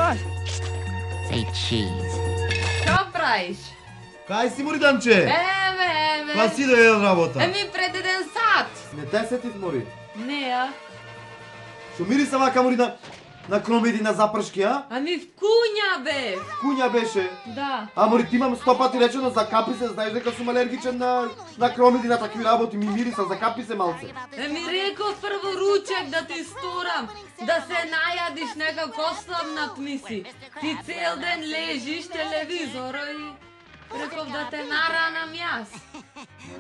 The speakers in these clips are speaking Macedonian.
What? Say cheese. Што правиш? Кај си, Мориданче? Еве. Па си дојде од работа? Пред 1 сат. Не те сетив, Мори. Не, а? Што мириса вака, Мори, на кромеди, на запршки, а? Вкуња бе. Куња беше. Да. А, Мори, ти имам 100 пати речено, закапи се, знаеш дека сум алергичен на кромеди, на такви работи, ми мириса, закапи се малце. Реков прво ручек да ти сторам, да се најадиш некако ослабнат миси. Ти цел ден лежиш телевизор и реков да те наранам јас.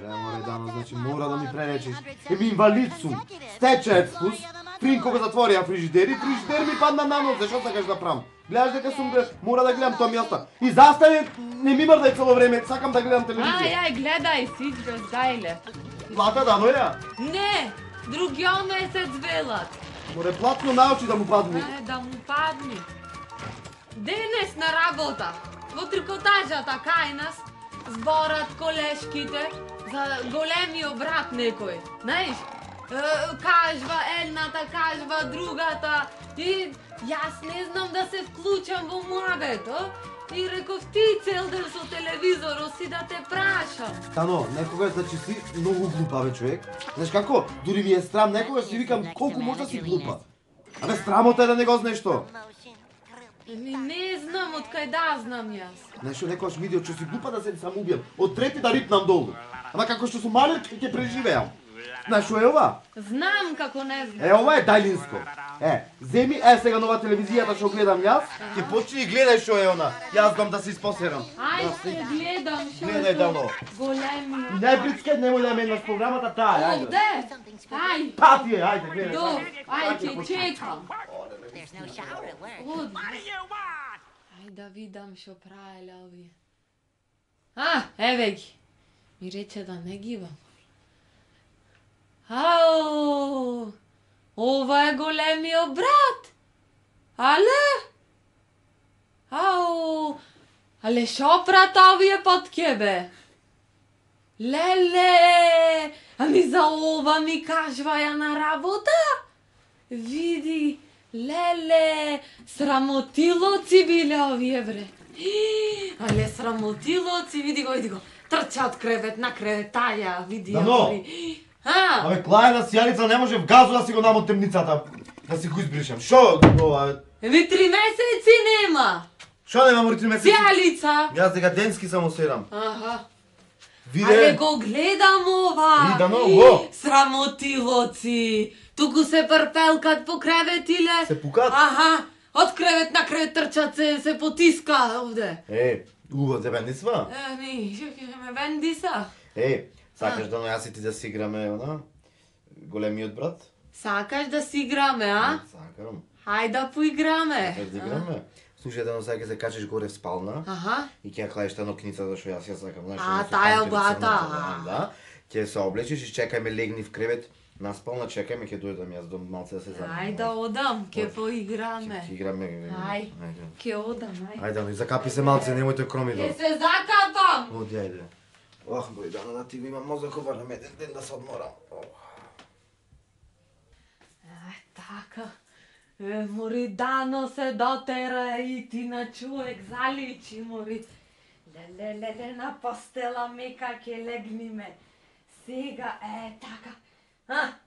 Море, Дано, значи мора да ми преречеш. Инвалид сум, стечаец вкус, Фринко го затворија фрижидер и фрижидер ми падна на нос, зашо сакаш да правам? Гледаш дека сум, мора да гледам тоа мјеста. И застане, не ми мрдај цело време, сакам да гледам телевизија. Ај, гледај сич без гајле. Плата да доја? Не, другиот месец велат. Море платно научи да му падни. Да му падни. Денес на работа, во трикотажата кај нас, зборат колешките за големиот брат некој. Знаеш, кажва едната, кажва другата и јас не знам да се вклучам во муабето. И реков ти цел ден со телевизорот си да те прашам. Тано, некогаш значи си многу глупа бе човек. Знаеш како? Дури ми е срам, некогаш си викам колку може да си глупа. Абе срамота е да не го знаеш што. Не знам од кај да знам јас. Знаеш што некогаш видео че си глупа да се самоубијам. Од трети да рипнам долу. Ама како што сум малек ќе преживеам. Знаеш што е ова? Знам како не знам. Ова е дајлинско. Земи сега нова телевизијата што гледам јас, ќе почни и гледај што е она. Јас дам да се испосерам. Ајде гледам што е Гледај Дано. големи. Не прицкет, немој да менаш програмата таа, ајде. Овде? Ај. Пати е, ајде, гледај. До, ајде чекам. There's no shower at work. Ајде да видам што правеле овие. Еве ги. Ми рече да не гибам. Ау! Ова е големиот брат. Але? Ау! Але шо прата овие под кебе? Леле! Ами за ова ми кажваја на работа? Види, леле, срамотилоци биле овие бре. Але срамотилоци, види го. Трча од кревет на кревет, таја, види ја. Дано! Абе, клајна сијалица не може в газу да си го дам од темницата, да си го избришам. Шо ова? 3 месеци нема. Шо нема Мори 3 месеци? Сијалица. Јас дека денски само серам. Але Виде, го гледам ова. Дано, го. Срамотилоци. Туку се прпелкат по креветиле. Се пукат? Од кревет на кревет трчат се потиска овде. Уво, те бендисва? Ме вендиса. Сакаш да јас и ти да си играме, големиот брат? Сакаш да си играме, а? Сакам. Хајде да поиграме. Сакаш да играме? Слушај, дано сега ќе се качиш горе в спална и ќе ја кладеш таа нокница зашто јас ја сакам, знаеш. Таја бата. Да. Ќе се облечеш и чекај ме легни в кревет. На спална чекај ме, ќе дојдам јас до малце да се забавам. Ајде одам, ќе поиграме. Ќе играме. Ајде. Ќе одам, ајде. Ајде, закапи се малце, немојте кромидор. Ќе се закапам. Оди, ајде. Бој, Дано, да ти го имам мозокот барем еден ден да се одморам. Така. Мори, Дано се дотера и ти на човек заличи, Мори. Леле, на постела мека ќе легниме. Сега, така.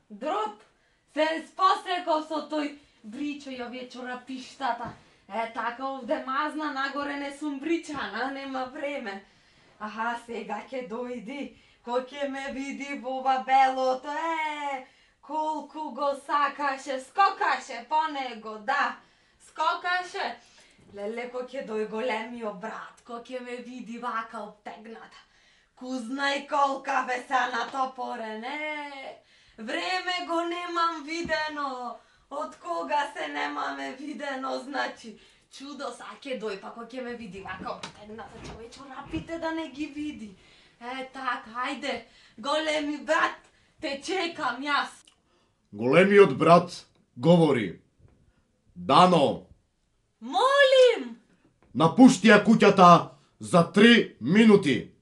Друп, се спосеков со тој бричо и овие чорапиштата. Така овде мазна, нагоре не сум бричана, нема време. Сега ќе дојди, кој ќе ме види во ова белото, колку го сакаше, скокаше по него, да, скокаше. Леле, кој ќе дој големиот брат, кој ќе ме види вака обтегната. Кузнај колка бе се натопорен, време го немам видено, од кога се немаме видено, значи, чудо са ќе дој, па кој ќе ме види вака обтегната, чове чорапите да не ги види. Така, ајде, големи брат, те чекам јас. Големиот брат говори. Дано, Молим! напушти ја куќата за 3 минути.